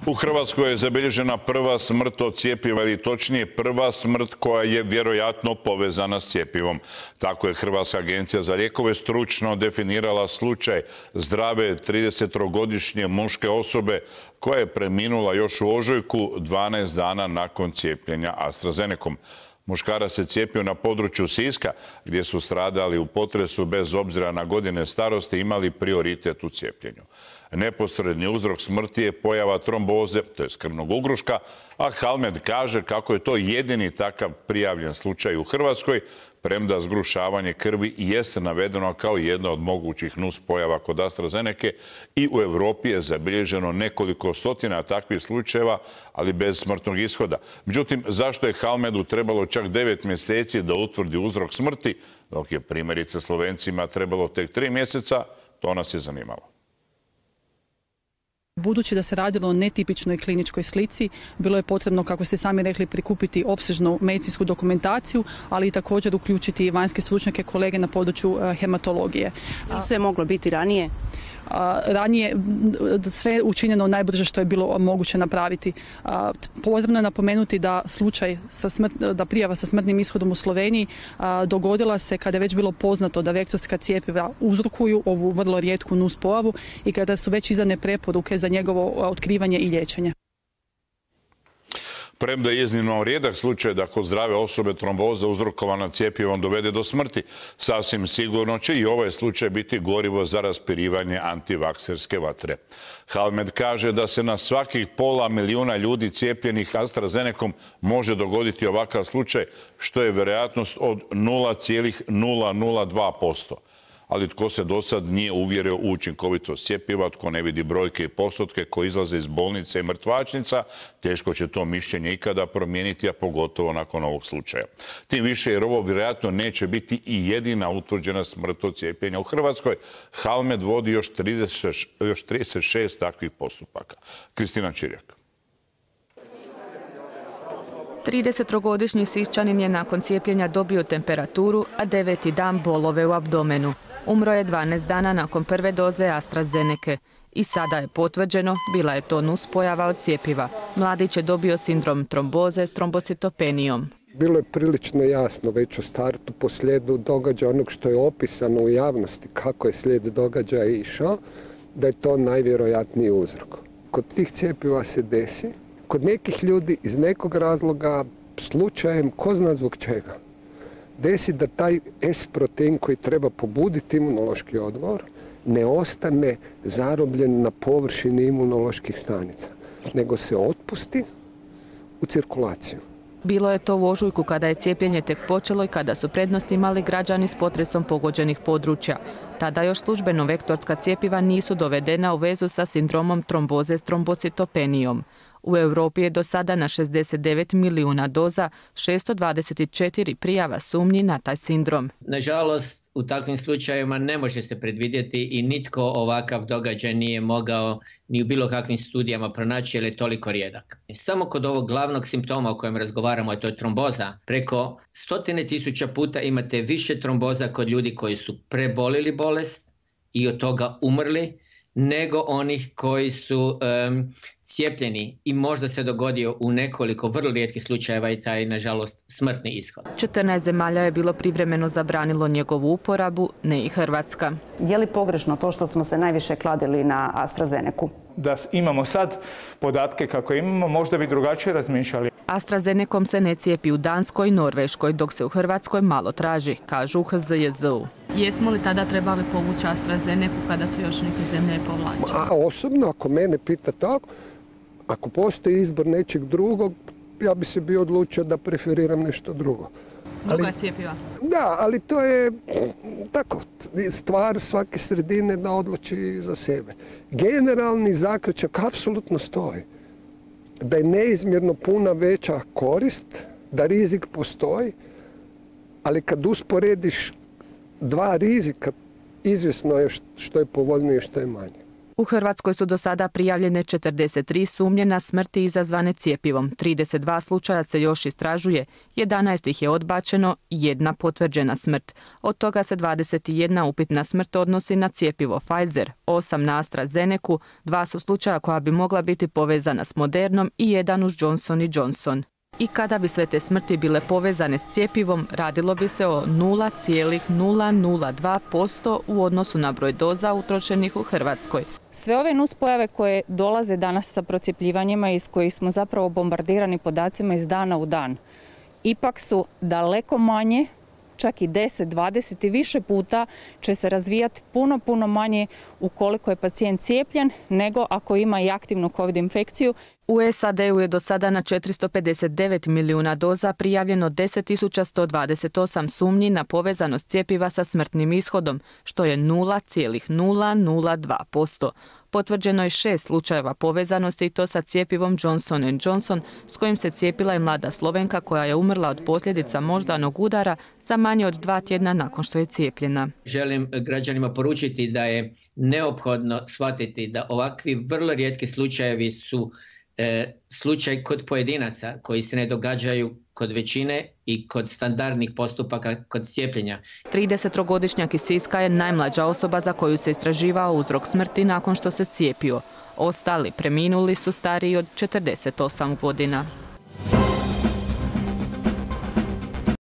U Hrvatskoj je zabilježena prva smrt od cjepiva, ili točnije prva smrt koja je vjerojatno povezana s cjepivom. Tako je Hrvatska agencija za lijekove stručno definirala slučaj zdrave 30-godišnje muške osobe koja je preminula još u ožujku 12 dana nakon cijepljenja AstraZenecom. Muškarac se cijepio na području Siska, gdje su stradali u potresu bez obzira na godine starosti imali prioritet u cijepljenju. Neposredni uzrok smrti je pojava tromboze, to je krvnog ugruška, a Halmed kaže kako je to jedini takav prijavljen slučaj u Hrvatskoj, premda zgrušavanje krvi jeste navedeno kao jedna od mogućih nuspojava kod AstraZenece i u Europi je zabilježeno nekoliko stotina takvih slučajeva, ali bez smrtnog ishoda. Međutim, zašto je Halmedu trebalo čak 9 mjeseci da utvrdi uzrok smrti, dok je primjerice Slovencima trebalo tek 3 mjeseca, to nas je zanimalo. Budući da se radilo o netipičnoj kliničkoj slici, bilo je potrebno, kako ste sami rekli, prikupiti opsežnu medicinsku dokumentaciju, ali i također uključiti vanjske stručnjake, kolege na području hematologije. Sve je moglo biti ranije? Ranije sve je učinjeno najbrže što je bilo moguće napraviti. Potrebno je napomenuti da da prijava sa smrtnim ishodom u Sloveniji dogodila se kada je već bilo poznato da vektorska cjepiva uzrokuju ovu vrlo rijetku nuspojavu i kada su već izdane preporuke za njegovo otkrivanje i liječenje. Premda je iznimno rijedak slučaj da kod zdrave osobe tromboza uzrokovana cjepivom dovede do smrti, sasvim sigurno će i ovaj slučaj biti gorivo za raspirivanje antivakserske vatre. Halmed kaže da se na svakih pola milijuna ljudi cijepljenih AstraZenecom može dogoditi ovakav slučaj, što je vjerojatnost od 0,002%. Ali tko se do sad nije uvjerio u učinkovitost cjepiva, tko ne vidi brojke i postotke koji izlaze iz bolnice i mrtvačnica, teško će to mišljenje ikada promijeniti, a pogotovo nakon ovog slučaja. Tim više jer ovo vjerojatno neće biti i jedina utvrđena smrt od cijepljenja u Hrvatskoj. Halmed vodi još 36 takvih postupaka. Kristina Čirjak. 30-godišnji Siščanin je nakon cijepljenja dobio temperaturu, a 9. dan bolove u abdomenu. Umro je 12 dana nakon prve doze AstraZenece. I sada je potvrđeno, bila je to nuspojava od cjepiva. Mladić je dobio sindrom tromboze s trombocitopenijom. Bilo je prilično jasno već u startu po slijedu događaja onog što je opisano u javnosti, kako je slijed događaja išao, da je to najvjerojatniji uzrok. Kod tih cjepiva se desi, kod nekih ljudi iz nekog razloga, slučajem, ko zna zbog čega, desi da taj S-protein koji treba pobuditi imunološki odgovor ne ostane zarobljen na površini imunoloških stanica, nego se otpusti u cirkulaciju. Bilo je to u ožujku kada je cijepljenje tek počelo i kada su prednost imali građani s potresom pogođenih područja. Tada još službeno vektorska cjepiva nisu dovedena u vezu sa sindromom tromboze s trombocitopenijom. U Europi je do sada na 69 milijuna doza 624 prijava sumnji na taj sindrom. Nažalost, u takvim slučajevima ne može se predvidjeti i nitko ovakav događaj nije mogao ni u bilo kakvim studijama pronaći jer je toliko rijedak. Samo kod ovog glavnog simptoma o kojem razgovaramo, a to je tromboza, preko 100.000 puta imate više tromboza kod ljudi koji su prebolili bolest i od toga umrli, nego onih koji su cijepljeni i možda se dogodio u nekoliko vrlo rijetkih slučajeva i taj, nažalost, smrtni ishod. 14 zemalja je bilo privremeno zabranilo njegovu uporabu, ne i Hrvatska. Je li pogrešno to što smo se najviše kladili na AstraZenecu? Da imamo sad podatke kako imamo, možda bi drugačije razmišljali. AstraZenecom se ne cijepi u Danskoj i Norveškoj, dok se u Hrvatskoj malo traži, kažu u HZJZ-u. Jesmo li tada trebali povući AstraZenecu kada su još neke zemlje povlačile? A osobno, ako mene pita tako, ako postoji izbor nečeg drugog, ja bi se bio odlučio da preferiram nešto drugo. Druga cjepiva? Da, ali to je tako, stvar svake sredine da odluči za sebe. Generalni zaključak apsolutno stoji. Da je neizmjerno puna veća korist, da rizik postoji, ali kad usporediš dva rizika, izvjesno je što je povoljnije i što je manje. U Hrvatskoj su do sada prijavljene 43 sumnje na smrti izazvane cjepivom. 32 slučaja se još istražuje, 11 ih je odbačeno, 1 potvrđena smrt. Od toga se 21 upitna smrt odnosi na cjepivo Pfizer, 8 na AstraZenecu, 2 su slučaja koja bi mogla biti povezana s Modernom i 1 uz Johnson & Johnson. I kada bi sve te smrti bile povezane s cjepivom, radilo bi se o 0,002% u odnosu na broj doza utrošenih u Hrvatskoj. Sve ove nuspojave koje dolaze danas sa procjepljivanjima, iz kojih smo zapravo bombardirani podacima iz dana u dan, ipak su daleko manje, čak i 10, 20 i više puta će se razvijati puno manje ukoliko je pacijent cijepljen nego ako ima i aktivnu COVID infekciju. U SAD-u je do sada na 459 milijuna doza prijavljeno 10.128 sumnji na povezanost cjepiva sa smrtnim ishodom, što je 0,002%. Potvrđeno je 6 slučajeva povezanosti i to sa cjepivom Johnson & Johnson, s kojim se cijepila i mlada Slovenka koja je umrla od posljedica moždanog udara za manje od 2 tjedna nakon što je cijepljena. Želim građanima poručiti da je neophodno shvatiti da ovakvi vrlo rijetki slučajevi su slučaj kod pojedinaca koji se ne događaju kod većine i kod standardnih postupaka kod cijepljenja. 30-godišnjak iz Siska je najmlađa osoba za koju se istraživao uzrok smrti nakon što se cijepio. Ostali preminuli su stariji od 48 godina.